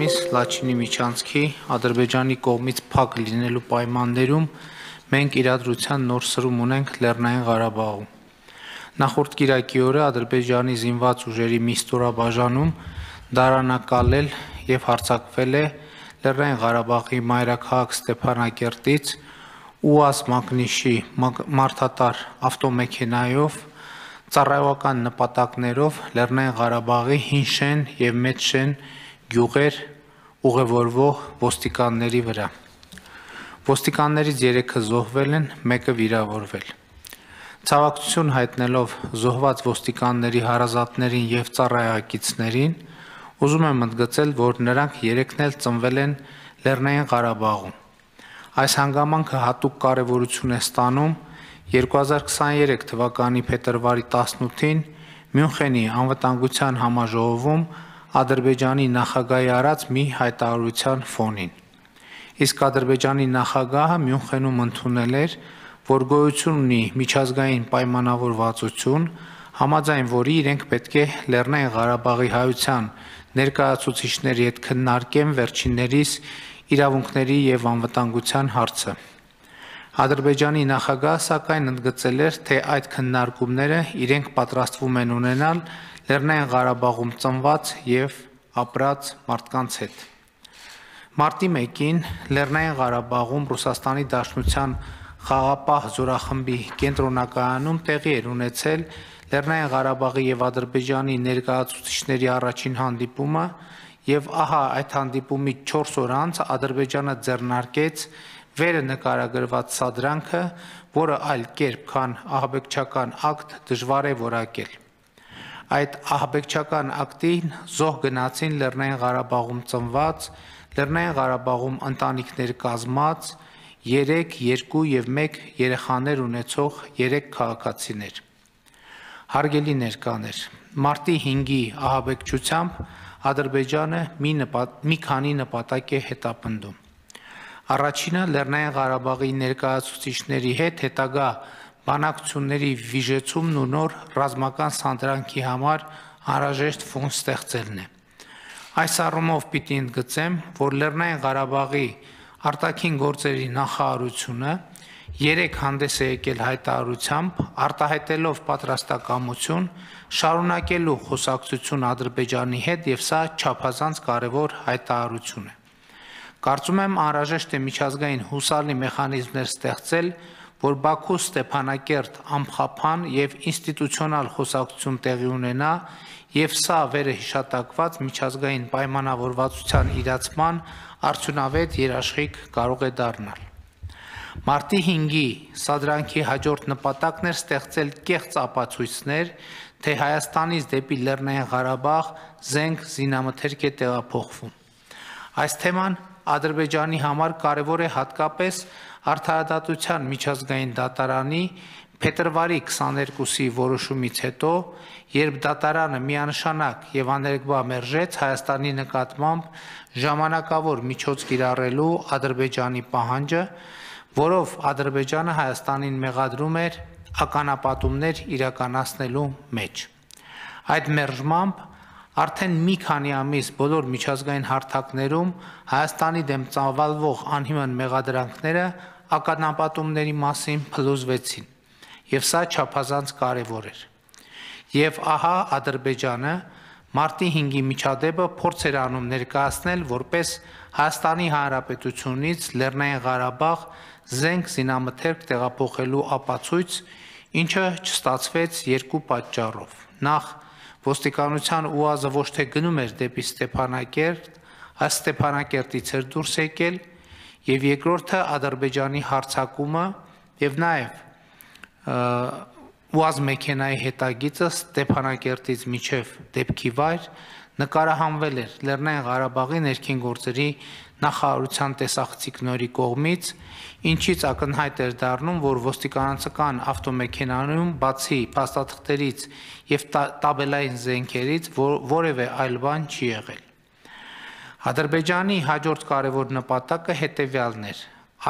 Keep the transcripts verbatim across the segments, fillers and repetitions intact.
Միս Լաչինի միջանցքի Ադրբեջանի կողմից փակ լինելու պայմաններում մենք իրադրության նոր սրում ունենք Լեռնային Ղարաբաղում։ Նախորդ կիրակի օրը Ադրբեջանի զինված ուժերի մի ստորաբաժանում դարանակալել եւ հարձակվել է Լեռնային Ղարաբաղի մայրաքաղաք Ստեփանակերտից ՈՒԱԶ մակնիշի մարդատար ավտոմեքենայով ծառայողական նպատակներով Լեռնային Ղարաբաղի հին շեն եւ մեծ շեն գյուղեր ուղևորվող ոստիկանների վրա։ Ոստիկաններից երեքը զոհվել են, մեկը վիրավորվել։ Ցավակցություն հայտնելով զոհված ոստիկանների հարազատներին եւ ծառայակիցներին, ուզում եմ ընդգծել, որ նրանք երեքն էլ ծնվել են Լեռնային Ղարաբաղում։ Այս հանգամանքը հատուկ կարևորություն է ստանում երկու հազար քսաներեք թվականի փետրվարի տասնութին Մյունխենի անվտանգության համաժողովում Ադրբեջանի նախագահի արած մի հայտարարության ֆոնին։ Իսկ Ադրբեջանի նախագահը Մյունխենում ընդունել էր, որ գոյություն ունի միջազգային պայմանավորվածություն, համաձայն որի իրենք պետք է Լեռնային Ղարաբաղի հայության ներկայացուցիչների հետ քննարկեն վերջիններիս իրավունքների եւ անվտանգության հարցը։ Ադրբեջանի նախագահը սակայն ընդգծել էր, թե այդ քննարկումները իրենք պատրաստվում են ունենալ Լեռնային Ղարաբաղում ծնված եւ ապրած մարդկանց հետ։ Մարտի մեկին Լեռնային Ղարաբաղում Ռուսաստանի Դաշնության խաղապահ զորախմբի կենտրոնակայանում տեղի էր ունեցել Լեռնային Ղարաբաղի եւ Ադրբեջանի ներկայացուցիչների առաջին հանդիպումը եւ ահա այդ հանդիպումից չորս օր անց Ադրբեջանը ձեռնարկեց վերը նկարագրված սադրանքը, որը այլ կերպ քան ահաբեկչական ակտ դժվար է որակել։ Այդ ահաբեկչական ակտին զոհ գնացին Լեռնային Ղարաբաղում ծնված, Լեռնային Ղարաբաղում ընտանիքներ կազմած, երեք, երկու եւ մեկ երեխաներ ունեցող երեք քաղաքացիներ։ Հարգելի ներկաներ, մարտի հինգի ահաբեկչությամբ Ադրբեջանը մի, նպատ, մի քանի նպատակ է հետապնդում։ Առաջինը Լեռնային Ղարաբաղի ներկայացուցիչների հետ հետագա բանակցությունների վիժեցումն ու նոր ռազմական սանդրանքի համար անհրաժեշտ ֆոն ստեղծելն է։ Այս առումով պիտի ընդգծեմ, որ Լեռնային Ղարաբաղի արտաքին գործերի նախարարությունը երեք հանդես է եկել հայտարարությամբ, արտահայտելով պատրաստակամություն շարունակելու խոսակցություն Ադրբեջանի հետ եւ սա չափազանց կարևոր հայտարարություն է։ Կարծում եմ անհրաժեշտ է միջազգային հուսալի մեխանիզմներ ստեղծել, որ Բաքու Ստեփանակերտ ամփոփան եւ ինստիտուցիոնալ խոսակցություն տեղի ունենա եւ սա վերը հիշատակված միջազգային պայմանավորվածության իրացման արդյունավետ երաշխիք կարող է դառնալ։ Մարտի հինգի սադրանքի հաջորդ նպատակն էր ստեղծել կեղծ ապացույցներ, թե Հայաստանից դեպի Լեռնային Ղարաբաղ զենք զինամթերք է տեղափոխվում։ Այս թեման Ադրբեջանի համար կարևոր է հատկապես Արդարադատության միջազգային դատարանի փետրվարի քսաներկուսի որոշումից հետո, երբ դատարանը միանշանակ եւ աներկբա մերժեց Հայաստանի նկատմամբ ժամանակավոր միջոց կիրառելու Ադրբեջանի պահանջը, որով Ադրբեջանը Հայաստանին մեղադրում էր ականապատումներ իրականացնելու մեջ։ Այդ մերժմամբ արդեն մի քանի ամիս բոլոր միջազգային հարթակներում Հայաստանի դեմ ծավալվող անհիմն մեղադրանքները ականապատումների մասին փլուզվեցին, եւ սա չափազանց կարևոր էր։ Եվ ահա Ադրբեջանը մարտի հինգի միջադեպը փորձ էր անում ներկայացնել որպես Հայաստանի Հանրապետությունից Լեռնային Ղարաբաղ զենք զինամթերք տեղափոխելու ապացույց, ինչը չստացվեց երկու պատճառով։ Նախ ոստիկանության ՈՒԱԶ-ը ոչ թե գնում էր դեպի Ստեփանակերտ, այս Ստեփանակերտից էր դուրս եկել, եւ երկրորդը Ադրբեջանի հարձակումը եւ նաեւ ՈՒԱԶ մեքենայի հետագիծը Ստեփանակերտից մինչեւ դեպքի վայր նկարահանվել էր Լեռնային Ղարաբաղի ներքին գործերի նախարարության տեսախցիկների կողմից, ինչից ակնհայտ էր դառնում, որ ոստիկանական ավտոմեքենայում բացի փաստաթղթերից եւ տաբելային զենքերից որևէ այլ բան չի եղել։ Ադրբեջանի հաջորդ կարևոր նպատակը հետևյալն էր.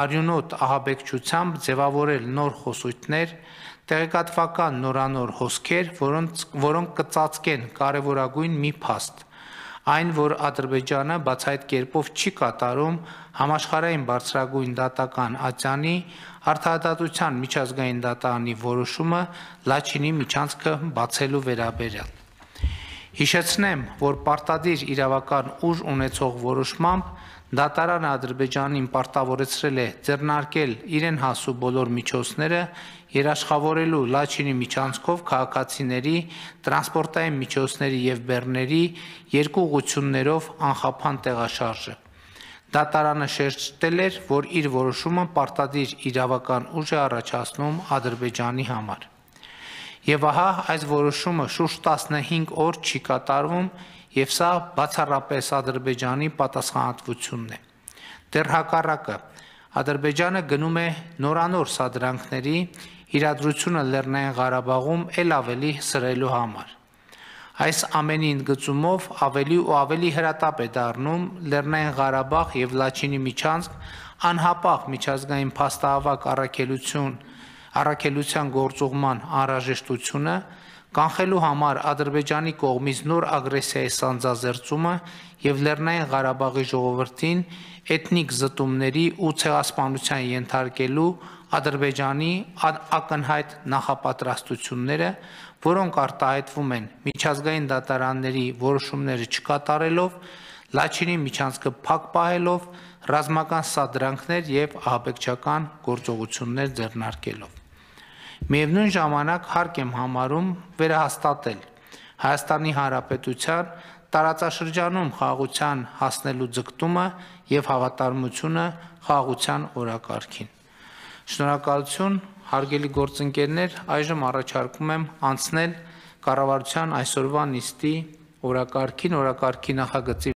արյունոտ ահաբեկչությամբ ձևավորել նոր խոսույթներ, տեղեկատվական նորանոր հոսքեր, որոնք կծածկեն կարևորագույն մի փաստ, Այն, որ Ադրբեջանը բացահայտ կերպով չի կատարում համաշխարհային բարձրագույն դատական ատյանի արդարադատության միջազգային դատարանի որոշումը Լաչինի միջանցքը բացելու վերաբերյալ։ Հիշեցնեմ, որ պարտադիր իրավական ուժ ունեցող որոշմամբ դատարանը Ադրբեջանին պարտավորեցրել է ձեռնարկել իրեն հասու բոլոր միջոցները երաշխավորելու Լաչինի միջանցքով քաղաքացիների, տրանսպորտային միջոցների և բեռների երկու ուղղություններով անխափան տեղաշարժը։ Դատարանը շեշտել էր, որ իր որոշումը պարտադիր իրավական ուժ է առաջացնում Ադրբեջանի համար։ Եվ ահա այս որոշումը շուրջ տասնհինգ օր չի կատարվում, և սա բացառապես Ադրբեջանի պատասխանատվությունն է։ Դեռ հակառակը, Ադրբեջանը գնում է նորանոր սադրանքների իրադրությունը Լեռնային Ղարաբաղում էլ ավելի սրելու համար։ Այս ամենի ընդգծումով ավելի ու ավելի հրատապ է դառնում Լեռնային Ղարաբաղ և Լաչինի միջանցք անհապաղ միջազգային փաստահավաք առաքելություն առաքելության գործուղման անհրաժեշտությունը, կանխելու համար Ադրբեջանի կողմից նոր ագրեսիայի սանձազերծումը և Լեռնային Ղարաբաղի ժողովրդին էթնիկ զտումների ու ցեղասպանության ենթարկելու Ադրբեջանի ակնհայտ նախապատրաստությունները, որոնք արտահայտվում են միջազգային դատարանների որոշումները չկատարելով, Լաչինի միջանցքը փակ պահելով, ռազմական սադրանքներ և ահաբեկչական գործողություններ ձեռնարկելով։ Միևնույն ժամանակ հարկ եմ համարում վերահաստատել Հայաստանի Հանրապետության տարածաշրջանում խաղաղության հասնելու ձգտումը և հավատարմությունը խաղաղության օրակարգին։ Շնորհակալություն, հարգելի գործընկերներ, այժմ առաջարկում եմ անցնել կառավարության այսօրվա նիստի օրակարգին, օրակարգի նախագծի